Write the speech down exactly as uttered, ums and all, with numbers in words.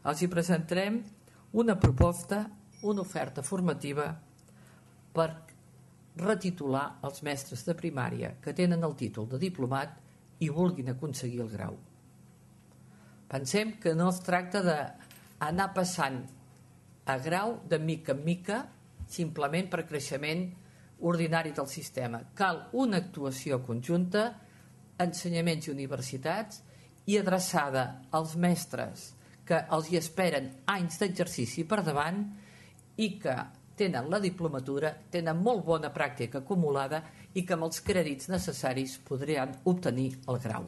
els hi presentarem una proposta, una oferta formativa per retitular els mestres de primària que tenen el títol de diplomat i vulguin aconseguir el grau. Pensem que no es tracta d'anar passant a grau de mica en mica simplement per creixement ordinari del sistema. Cal una actuació conjunta, ensenyaments i universitats, i adreçada als mestres que els hi esperen anys d'exercici per davant i que tenen la diplomatura, tenen molt bona pràctica acumulada i que amb els crèdits necessaris podran obtenir el grau.